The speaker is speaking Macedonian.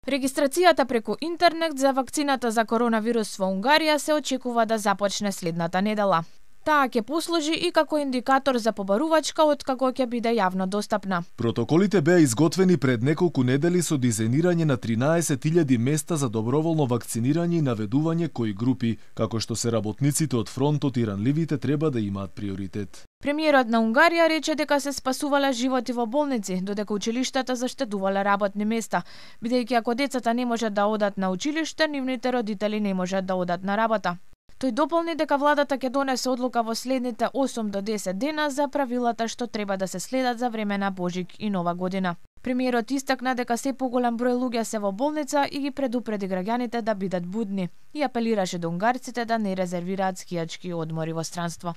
Регистрацијата преку интернет за вакцината за коронавирус во Унгарија се очекува да започне следната недела. Таа ќе послужи и како индикатор за побарувачка откако ќе биде јавно достапна. Протоколите беа изготвени пред неколку недели со дизајнирање на 13.000 места за доброволно вакцинирање и наведување кои групи, како што се работниците од фронтот и ранливите, треба да имаат приоритет. Премиерот на Унгарија рече дека се спасувале животи во болници, додека училиштата заштедувале работни места, бидејќи ако децата не можат да одат на училиште, нивните родители не можат да одат на работа. Тој дополни дека владата ќе донесе одлука во следните 8 до 10 дена за правилата што треба да се следат за време на Божик и Нова година. Премиерот истакна дека се поголем број луѓе се во болница и ги предупреди граѓаните да бидат будни и апелираше до унгарците да не резервираат скијачки одмори во странство.